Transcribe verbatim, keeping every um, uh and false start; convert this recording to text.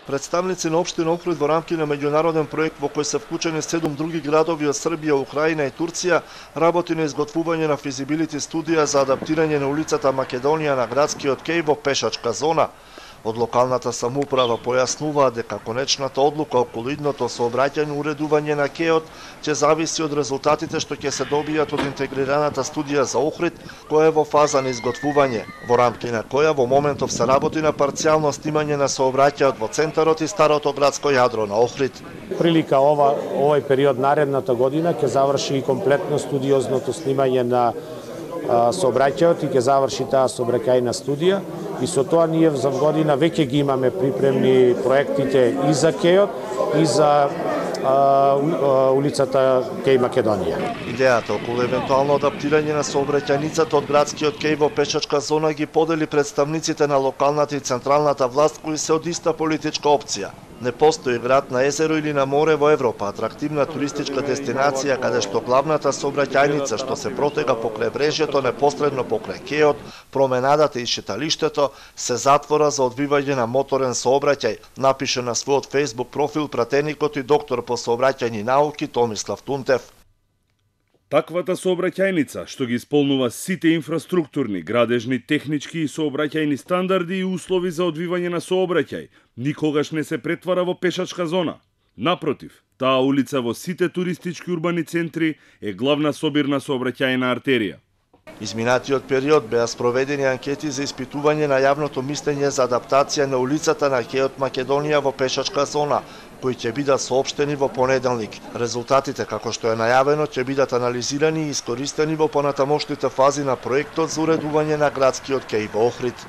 Представници на општина Охрид во рамки на меѓународен проект во кој се вклучени седум други градови од Србија, Украина и Турција, работи на изготвување на физибилити студија за адаптирање на улицата Македонија на градскиот кеј во пешачка зона. Од локалната самоуправа појаснуваат дека конечната одлука околу идното сообраќајно уредување на кејот ќе зависи од резултатите што ќе се добијат од интегрираната студија за Охрид, која е во фаза на изготвување, во рамки на која во моментов се работи на парцијално снимање на сообраќајот во центарот и старото градско јадро на Охрид. Прилика ова овој период наредната година ќе заврши и комплетно студиозното снимање на сообраќајот и ќе заврши таа сообраќајна студија. И со тоа ние за година веќе ги имаме припремни проектите и за кејот и за а, улицата кеј Македонија. Идејата околу евентуално адаптирање на сообраќајницата од градскиот кеј во пешачка зона ги подели представниците на локалната и централната власт кои се од иста политичка опција. Не постои град на езеро или на море во Европа, атрактивна туристичка дестинација каде што главната сообраќајница што се протега покрај брежјето непосредно покрај кејот, променадата и шеталиштето се затвора за одвивање на моторен сообраќај, напише на својот Facebook профил пратеникот и доктор по сообраќајни науки Томислав Тунтев. Таквата сообраќајница, што ги исполнува сите инфраструктурни, градежни, технички и сообраќајни стандарди и услови за одвивање на сообраќај, никогаш не се претвара во пешачка зона. Напротив, таа улица во сите туристички урбани центри е главна собирна сообраќајна артерија. Изминатиот период беа спроведени анкети за испитување на јавното мислење за адаптација на улицата на кејот Македонија во пешачка зона, кои ќе бидат соопштени во понеделник. Резултатите, како што е најавено, ќе бидат анализирани и искористени во понатамошните фази на проектот за уредување на градскиот кеј во Охрид.